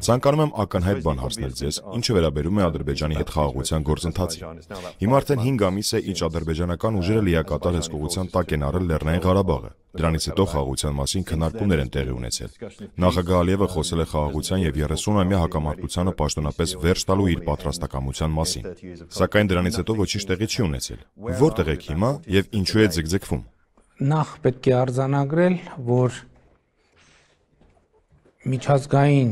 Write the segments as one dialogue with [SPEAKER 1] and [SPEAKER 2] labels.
[SPEAKER 1] Ցանկանում եմ ակնհայտ բան հարցնել ձեզ, ինչը վերաբերում է Ադրբեջանի հետ խաղաղության գործընթացին։ Հիմա արդեն 5 ամիս է, ինչ ադրբեջանական ուժերը լիակատար հսկողության տակ են առել Լեռնային Ղարաբաղը։ Դրանից հետո խաղաղության մասին քննարկումներ են տեղի ունեցել։ Նախագահ Ալիևը խոսել է խաղաղության եւ 30-ամյա հակամարտությանը պաշտոնապես վերջ տալու իր պատրաստակամության մասին։ Սակայն դրանից հետո ոչինչ տեղի չի ունեցել։ Որտեղ եք հիմա եւ ինչու է ձգձգվում։
[SPEAKER 2] Նախ պետք է արձանագրել, որ միջազգային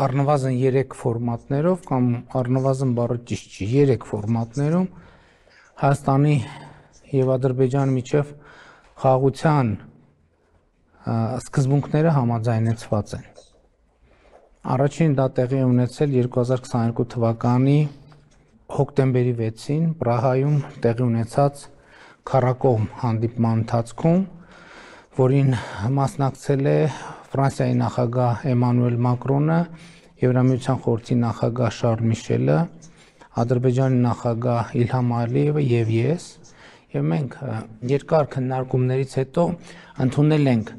[SPEAKER 2] առնվազն 3 ֆորմատներով կամ առնվազն բառը ճիշտ չի, 3 ֆորմատներում Հայաստանի եւ Ադրբեջանի միջև խաղաղության սկզբունքները համաձայնեցված են։ Առաջին դա տեղի է ունեցել 2022 թվականի հոկտեմբերի 6-ին Պրահայում տեղի ունեցած քառակողմ հանդիպման ընթացքում, որին մասնակցել է Ֆրանսիայի նախագահ Էմանուել Մակրոնը, Եվրամիության խորհրդի նախագահ Շարլ Միշելը, Ադրբեջանի նախագահ Իլհամ Ալիևը եւ ես, եւ մենք երկար քննարկումներից հետո ընդունել ենք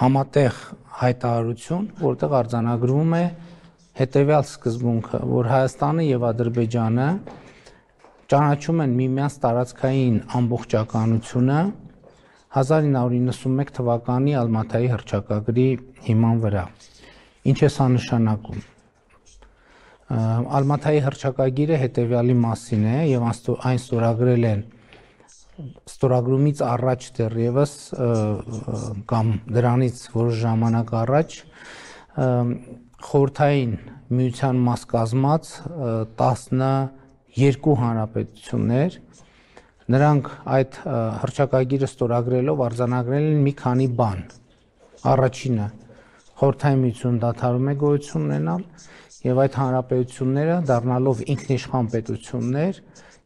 [SPEAKER 2] համատեղ հայտարարություն, որտեղ արձանագրվում է հետեւյալ սկզբունքը, որ Հայաստանը եւ Ադրբեջանը ճանաչում են միմյանց տարածքային ամբողջականությունը 1991 թվականի Ալմաթայի հռչակագրի հիման վրա։ Ինչ է սա նշանակում։ Ալմաթայի հռչակագիրը հետևյալի մասին է եւ այն ստորագրել են ստորագրումից առաջ դեռևս կամ դրանից որոշ ժամանակ առաջ խորհրդային միության մաս կազմած 12 հանրապետություններ, նրանք այդ հռչակագիրը ստորագրելով արձանագրել են մի քանի բան։ Առաջինը խորհրդային միությունը դադարում է գոյություն ունենալ եւ այդ հանրապետությունները դառնալով ինքնիշխան պետություններ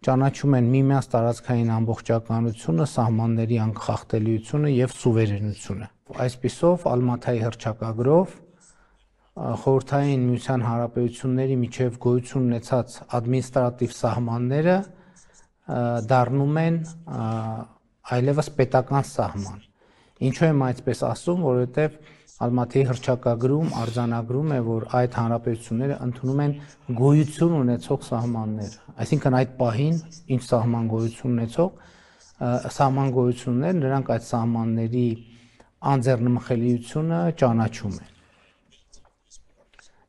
[SPEAKER 2] ճանաչում են միմյանց տարածքային ամբողջականությունը, սահմանների անկախտելիությունը եւ սուվերենությունը։ Այսպիսով Ալմաթայի հռչակագրով խորհրդային միության հանրապետությունների միջև գոյություն ունեցած ադմինիստրատիվ սահմանները դառնում են այլևս պետական սահման։ Ինչու եմ այսպես ասում, որովհետև Ալմաթայի հռչակագրում արձանագրում է, որ այդ հանրապետությունները ընդունում են գոյություն ունեցող սահմաններ, այսինքն այդ պահին ինչ սահման գոյություն ունեցող նրանք այդ սահմանների անձեռնմխելիությունը ճանաչում են։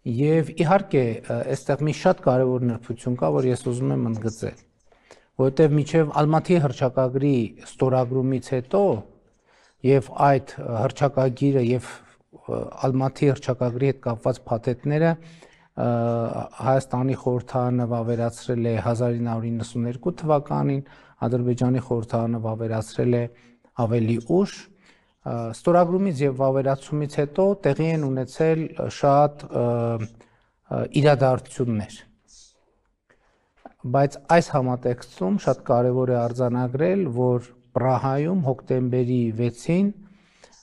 [SPEAKER 2] Եվ իհարկե, այստեղ մի շատ կարևոր նրբություն կա, որ ես ուզում եմ ընդգծել, որովհետև մինչև Ալմաթայի հռչակագրի ստորագրումից հետո եւ այդ հռչակագիրը եւ Ալմաթայի հռչակագրի հետ կապված փաթեթները Հայաստանի խորհրդարանը վավերացրել է 1992 թվականին, Ադրբեջանի խորհրդարանը վավերացրել է ավելի ուշ, ստորագրումից եւ վավերացումից հետո տեղի են ունեցել շատ իրադարձություններ։ Բայց այս համատեքստում շատ կարևոր է արձանագրել, որ Պրահայում հոկտեմբերի 6-ին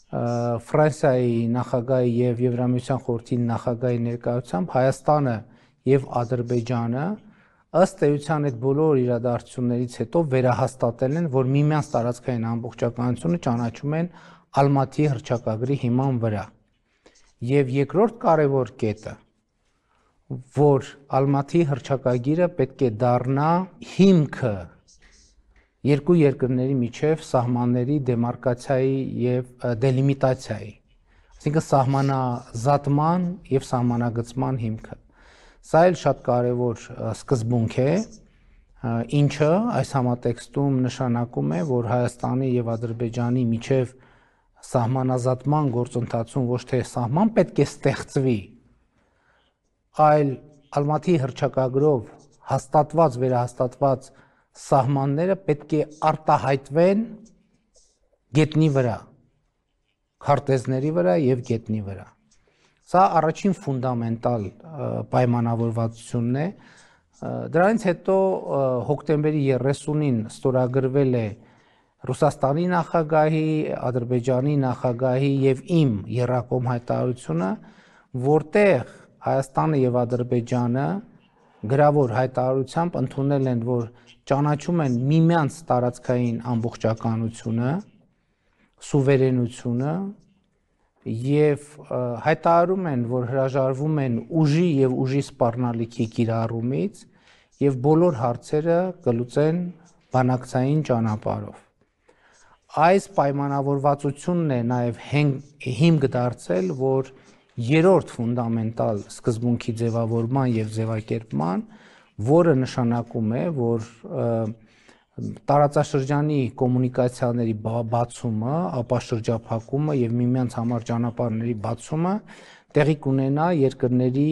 [SPEAKER 2] Ֆրանսիայի նախագահի եւ Եվրամիության խորհրդի նախագահի ներկայությամբ Հայաստանը եւ Ադրբեջանը ըստ էության այդ բոլոր իրադարձություններից հետո վերահաստատել են, որ միմյանց տարածքային ամբողջականությունը ճանաչում են Ալմաթայի հռչակագրի հիման վրա։ Եվ երկրորդ կարևոր կետը, որ Ալմաթայի հռչակագիրը պետք է դառնա հիմքը երկու երկրների միջև սահմանների դեմարկացիայի եւ դելիմիտացիայի, այսինքն սահմանազատման եւ սահմանագծման հիմքը։ Սա էլ շատ կարևոր սկզբունք է, ինչը այս համատեքստում նշանակում է, որ Հայաստանի եւ Ադրբեջանի միջև սահմանազատման գործընթացում ոչ թե սահման պետք է ստեղծվի, այլ Ալմաթայի հռչակագրով հաստատված, վերահաստատված սահմանները պետք է արտահայտվեն գետնի վրա, քարտեզների վրա եւ գետնի վրա։ Սա առաջին ֆունդամենտալ պայմանավորվածությունն է։ Դրանից հետո հոկտեմբերի 30-ին ստորագրվել է Ռուսաստանի նախագահի, Ադրբեջանի նախագահի եւ իմ եռակողմ հայտարարությունը, որտեղ Հայաստանը եւ Ադրբեջանը գրավոր հայտարարությամբ ընդունել են, որ ճանաչում են միմյանց տարածքային ամբողջականությունը, սուվերենությունը եւ հայտարարում են, որ հրաժարվում են ուժի եւ ուժի սպառնալիքի կիրառումից եւ բոլոր հարցերը կլուծեն բանակցային ճանապարհով։ Այս պայմանավորվածությունն է նաեւ հիմք դարձել, որ երրորդ ֆունդամենտալ սկզբունքի ձևավորման եւ ձևակերպման, որը նշանակում է, որ տարածաշրջանի կոմունիկացիաների բացումը, ապա շրջափակումը եւ միմյանց համար ճանապարհների բացումը տեղի կունենա երկրների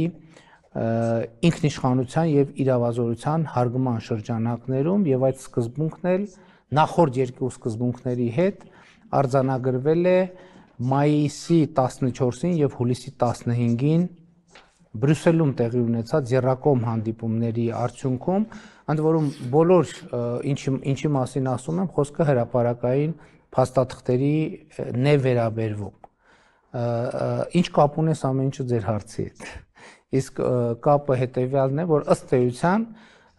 [SPEAKER 2] ինքնիշխանության եւ իրավազորության հարգման շրջանակներում եւ այդ սկզբունքն էլ նախորդ երկու սկզբունքների հետ արձանագրվել է մայիսի 14-ին եւ հուլիսի 15-ին Բրյուսելում տեղի ունեցած եռակողմ հանդիպումների արդյունքում, ընդ որում բոլոր ինչի մասին ասում եմ, խոսքը հրապարակային փաստաթղթերի վերաբերվում։ Ինչ կապ ունես ամեն ինչը ձեր հարցի հետ։ Իսկ կապը հետեւյալն է, որ ըստ էության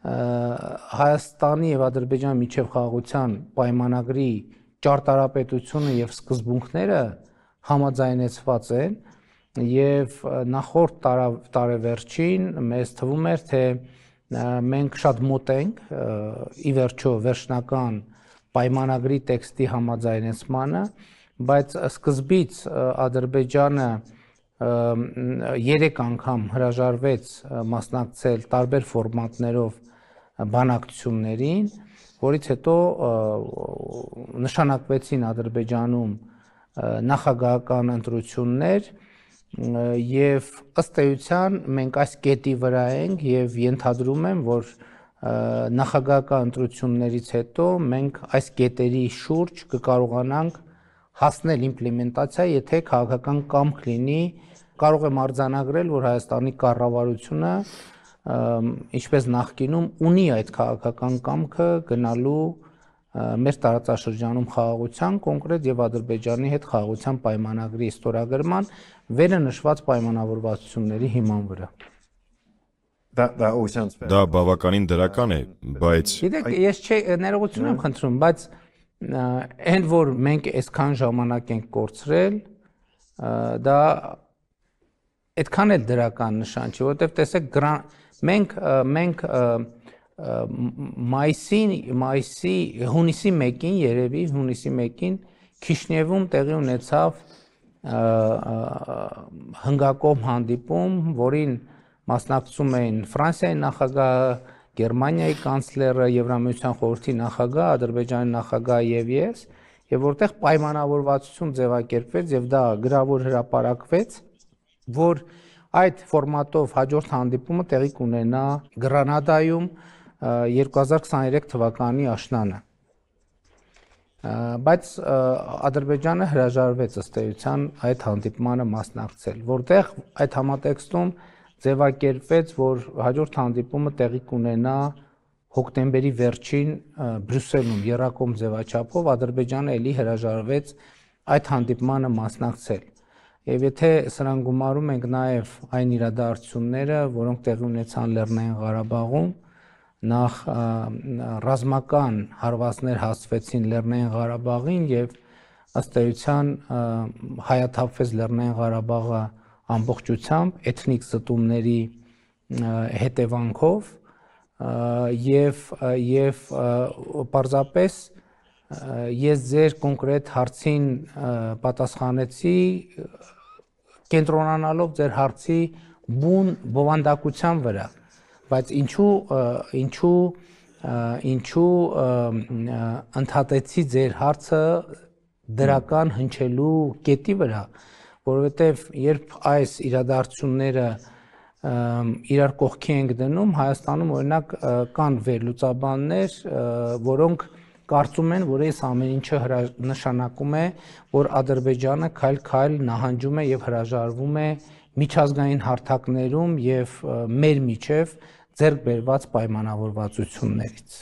[SPEAKER 2] Հայաստանի եւ Ադրբեջանի միջև խաղաղության պայմանագրի ճարտարապետությունը եւ սկզբունքները համաձայնեցված են եւ նախորդ տարեվերջին մեզ թվում էր, թե մենք շատ մոտ ենք ի վերջո վերջնական պայմանագրի տեքստի համաձայնեցմանը, բայց սկզբից Ադրբեջանը 3 անգամ հրաժարվեց մասնակցել տարբեր ֆորմատներով բանակցություններին, որից հետո նշանակվեցին Ադրբեջանում նախագահական ընտրություններ եւ ըստ էության մենք այս կետի վրա ենք եւ ենթադրում եմ, որ նախագահական ընտրություններից հետո մենք այս կետերի շուրջ կկարողանանք հասնել իմպլեմենտացիա, եթե քաղաքական կամք լինի, կարող եմ արձանագրել, որ Հայաստանի կառավարությունը ինչպես նախկինում ունի այդ քաղաքական կամքը գնալու մեր տարածաշրջանում խաղաղության կոնկրետ եւ Ադրբեջանի հետ խաղաղության պայմանագրի ստորագրման վերը նշված պայմանավորվածությունների հիման վրա։
[SPEAKER 1] Դա բավականին դրական է, բայց
[SPEAKER 2] Գիտեք, ես ներողություն եմ խնդրում, բայց այն որ մենք այսքան ժամանակ ենք կորցրել, դա այդքան էլ դրական նշան չի, որովհետեւ տեսեք մենք հունիսի 1-ին երևի հունիսի 1-ին Քիշնևում տեղի ունեցավ հնգակողմ հանդիպում, որին մասնակցում էին Ֆրանսիայի նախագահը, Գերմանիայի կանցլերը, Եվրամիության խորհրդի նախագահը, Ադրբեջանի նախագահը եւ ես, եւ որտեղ պայմանավորվածություն ձևակերպվեց եւ դա գրավոր հրապարակվեց, որ այդ ֆորմատով հաջորդ հանդիպումը տեղի կունենա Գրանադայում 2023 թվականի աշնանը։ Բայց Ադրբեջանը հրաժարվեց ըստ էության այդ հանդիպմանը մասնակցել, որտեղ այդ համատեքստում ձևակերպվեց, որ հաջորդ հանդիպումը տեղի կունենա հոկտեմբերի վերջին Բրյուսելում եռակողմ ձևաչափով, Ադրբեջանը ելի հրաժարվեց այդ հանդիպմանը մասնակցել։ Եվ եթե սրան գումարում ենք նաև այն իրադարձությունները, որոնք տեղի ունեցան Լեռնային Ղարաբաղում, նախ ռազմական հարվածներ հասցվեցին Լեռնային Ղարաբաղին եւ ըստ էության հայաթափվեց Լեռնային Ղարաբաղը ամբողջությամբ էթնիկ զտումների հետևանքով եւ պարզապես ես ձեր կոնկրետ հարցին պատասխանեցի կենտրոնանալով ձեր հարցի բուն բովանդակության վրա, բայց ինչու ընդհատեցի ձեր հարցը դրական հնչելու կետի վրա, որովհետև երբ այս իրադարձությունները իրար կողքի ենք դնում, Հայաստանում օրինակ կան վերլուծաբաններ, որոնք կարծում են, որ այս ամեն ինչը նշանակում է, որ Ադրբեջանը քայլ-քայլ նահանջում է եւ հրաժարվում է միջազգային հարթակներում եւ մեր միջև ձեռք բերված պայմանավորվածություններից։